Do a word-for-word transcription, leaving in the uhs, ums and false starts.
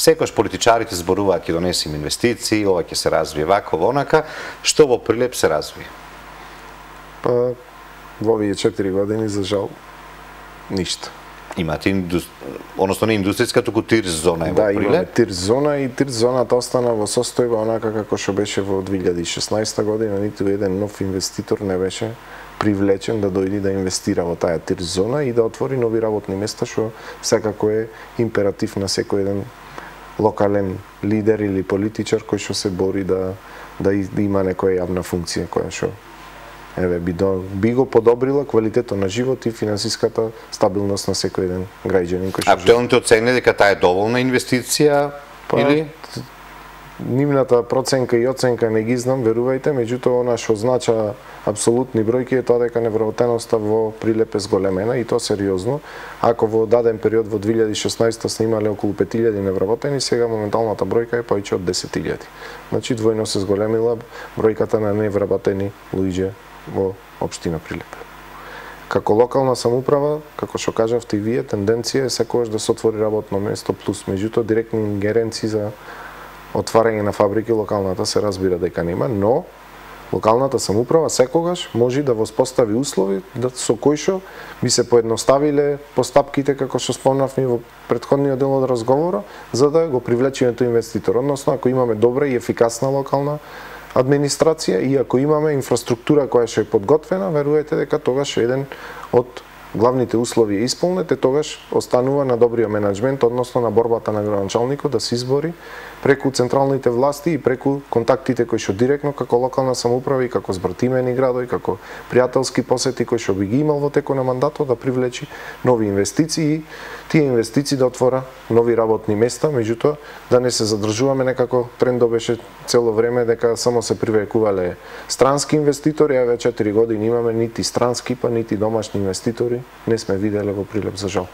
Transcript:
Секојаш политичарите зборуваат ќе донесеме инвестиции, ова ќе се развие вако, онака, што во Прилеп се развие? Па во овие четири години за жал ништо. Имате индус... односно не индустријска, туку тир зона е да, во Прилеп. Да, имаме тир зона и тир зоната остана во состојба онака како што беше во две илјади и шеснаесета година, ниту еден нов инвеститор не беше привлечен да дојде да инвестира во таа тир зона и да отвори нови работни места, што секако е императив на секој еден локален лидер или политичар кој што се бори да да има некоја јавна функција која што еве би, до, би го подобрила квалитетот на живот и финансиската стабилност на секој еден граѓанин кој што. Актуелните оцени дека таа е доволна инвестиција па, или нивната проценка и оценка не ги знам, верувајте, меѓутоа она што означава апсолутни бројки е тоа дека невработеноста во Прилеп е зголемена и тоа сериозно. Ако во даден период во две илјади и шеснаесета сме имале околу пет илјади невработени, сега моменталната бројка е повеќе од десет илјади. Значи двојно се зголемила бројката на невработени луѓе во општина Прилеп. Како локална самоуправа, како што кажавте и вие, тенденција е секогаш да се отвори работно место плюс, меѓутоа директни ингеренции за отварање на фабрики локалната се разбира дека нема, но локалната самоуправа секогаш може да воспостави услови да со кои што би се поедноставиле постапките како што спомнавме во претходниот дел од разговора, за да го привлечеме тој инвеститор. Односно, ако имаме добра и ефикасна локална администрација и ако имаме инфраструктура која што е подготвена, верувате дека тогаш еден од главните услови е исполнет, е тогаш останува на добриот менеджмент, односно на борбата на градоначалникот да се избори преку централните власти и преку контактите кои што директно како локална самоуправа и како збратимени градови, како пријателски посети кои што би ги имал во текот на мандатот да привлечи нови инвестиции и тие инвестиции да отвора нови работни места, меѓутоа да не се задржуваме некако трендот беше цело време дека само се привлекувале странски инвеститори, а веќе четири години имаме нити странски па нити домашни инвеститори не сме виделе во Прилеп за жал.